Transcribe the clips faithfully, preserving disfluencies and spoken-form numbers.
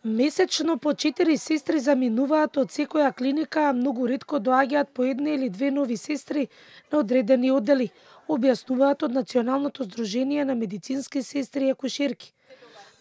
Месечно по четири сестри заминуваат од секоја клиника, а многу ретко доаѓаат по една или две нови сестри на одредени оддели, објаснуваат од Националното здружение на медицински сестри и акушерки.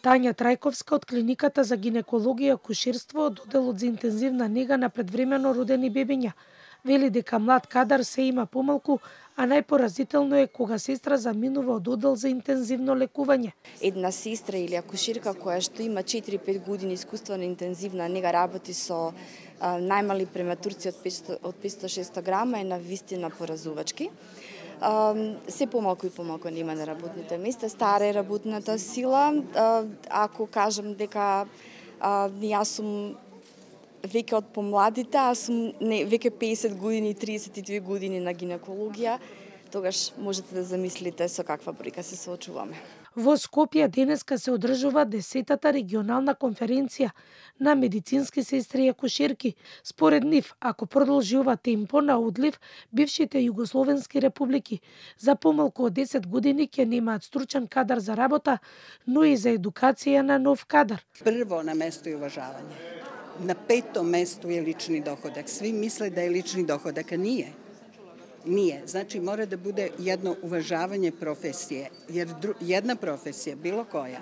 Тања Трајковска од клиниката за гинекологија и акушерство од одделот за интензивна нега на предвремено родени бебиња вели дека млад кадар се има помалку, а најпоразително е кога сестра заминува од оддел за интензивно лекување. Една сестра или акушерка која што има четири-пет години искуство на интензивна нега, работи со а, најмали прематурци од петстотини од петстотини до шестстотини грама, е на вистина поразувачки. А, се помалку и помалку нема на работните места, стара е работната сила. А, ако кажам дека а, јас сум веќе од помладите, аз сум не, веќе песет години, триесет и две години на гинекологија, тогаш можете да замислите со каква бројка се соочуваме. Во Скопје денеска се одржува десетата регионална конференција на медицински сестри и акушерки. Според нив, ако продолжи ова темпо на одлив, бившите југословенски републики за помалку од десет години ќе немаат стручен кадар за работа, но и за едукација на нов кадар. Прво на место е уважавање. На пето место е лични доходак. Сви мисле да е лични доходак, а nije. Nije. Znači mora da bude jedno uvažavanje profesije, jer jedna profesija, bilo koja,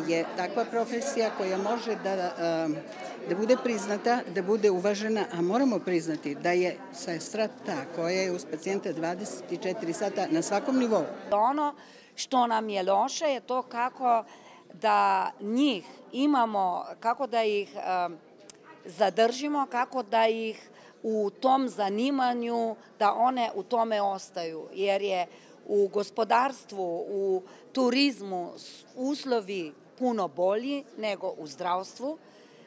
je takva profesija koja može da, da bude priznata, da bude uvažena, a moramo priznati da je sestra ta koja je uz pacijenta dvadeset četiri sata na svakom nivou. Ono što nam je loše je to kako da njih imamo, kako da ih zadržimo, kako da ih u tom zanimanju, da one u tome ostaju, jer je u gospodarstvu, u turizmu uslovi puno bolji nego u zdravstvu,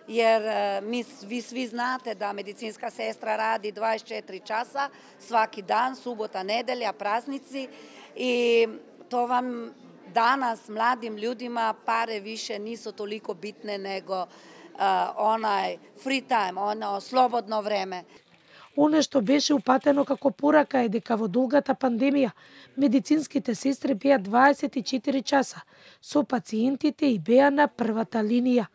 jer mi, vi svi znate da medicinska sestra radi dvadeset četiri časa svaki dan, subota, nedelja, praznici i to vam danas mladim ljudima pare više nisu toliko bitne nego Uh, onaj free time, ono slobodno време. Оно што беше упатено како порака е дека во долгата пандемија медицинските сестри беа дваесет и четири часа со пациентите и беа на првата линија.